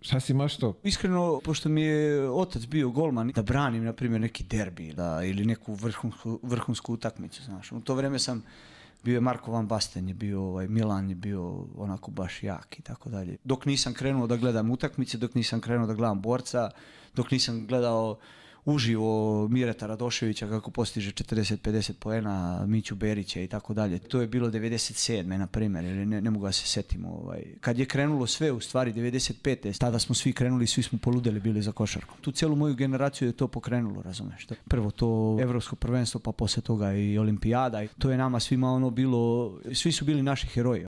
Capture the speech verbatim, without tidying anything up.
Šta si imaš to? Iskreno, pošto mi je otac bio golman, da branim, na primjer, neki derbi da, ili neku vrhunsku, vrhunsku utakmicu, znaš. U to vrijeme sam bio je Marko Van Basten, je bio ovaj, Milan je bio onako baš jak i tako dalje. Dok nisam krenuo da gledam utakmice, dok nisam krenuo da gledam borca, dok nisam gledao uživo Mireta Radoševića kako postiže četrdeset pedeset poena, Miću Berića i tako dalje. To je bilo devedeset sedme na primjer, ili ne, ne mogu da se setim. Ovaj. Kad je krenulo sve, u stvari devedeset pete tada smo svi krenuli, svi smo poludeli bili za košarkom. Tu cijelu moju generaciju je to pokrenulo, razumeš? Prvo to evropsko prvenstvo, pa poslije toga i olimpijada. I to je nama svima ono bilo, svi su bili naši heroji.